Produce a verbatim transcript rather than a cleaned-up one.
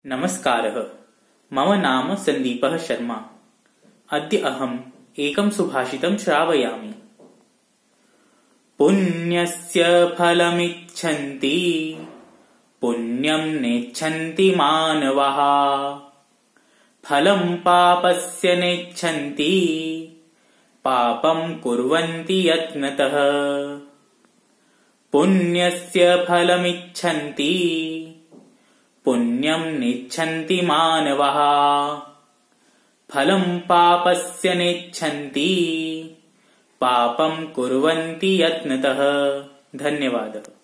नमस्कारः। मम नाम सन्दीपः शर्मा। अद्य अहम् एकं सुभाषितं श्रावयामि। पुण्यस्य फलमिच्छन्ति पुण्यं नेच्छन्ति मानवाः, फलं पापस्य नेच्छन्ति पापं कुर्वन्ति यत्नतः। पुण्यस्य फलमिच्छन्ति पुण्यं नेच्छन्ति मानवाः, फलं पापस्य नेच्छन्ति पापं कुर्वन्ति यत्नतः। धन्यवादः।